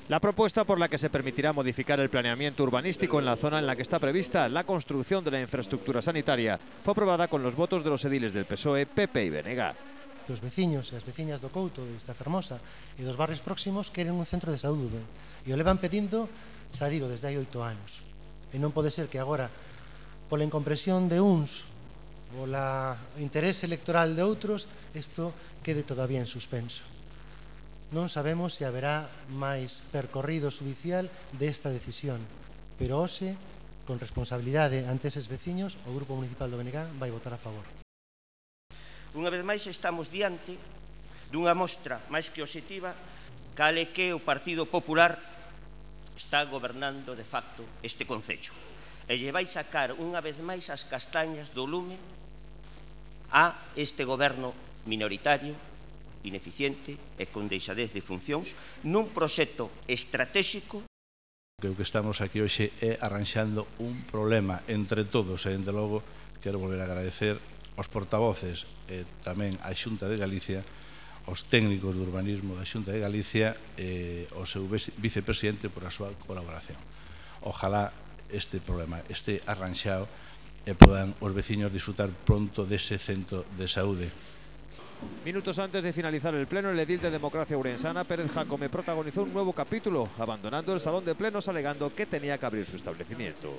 La propuesta por la que se permitirá modificar el planeamiento urbanístico en la zona en la que está prevista la construcción de la infraestructura sanitaria fue aprobada con los votos de los ediles del PSOE, PP y BNG. Os veciños e as veciñas do Couto, de Vista Fermosa e dos barrios próximos queren un centro de saúde e o levan pedindo, xa digo, desde hai 8 anos. E non pode ser que agora, pola incompresión de uns, pola interese electoral de outros, isto quede todavía en suspenso. Non sabemos se haberá máis percorrido judicial desta decisión, pero hoxe, con responsabilidade ante eses veciños, o Grupo Municipal do BNG vai votar a favor. Unha vez máis estamos diante dunha mostra máis que obxectiva cal é que o Partido Popular está gobernando de facto este concello e lle vai sacar unha vez máis as castañas do lume a este goberno minoritario, ineficiente e con deixadez de funcións nun proxecto estratégico. O que estamos aquí hoxe é arranxando un problema entre todos e, dende logo, quero volver a agradecer aos portavoces e tamén á Xunta de Galicia, aos técnicos de urbanismo da Xunta de Galicia e ao seu vicepresidente por a súa colaboración. Ojalá este problema este arranxado e podan os veciños disfrutar pronto dese centro de saúde. Minutos antes de finalizar el pleno, el edil de Democracia Ourensana, Pérez Jácome, protagonizó un nuevo capítulo, abandonando el salón de plenos alegando que tenía que abrir su establecimiento.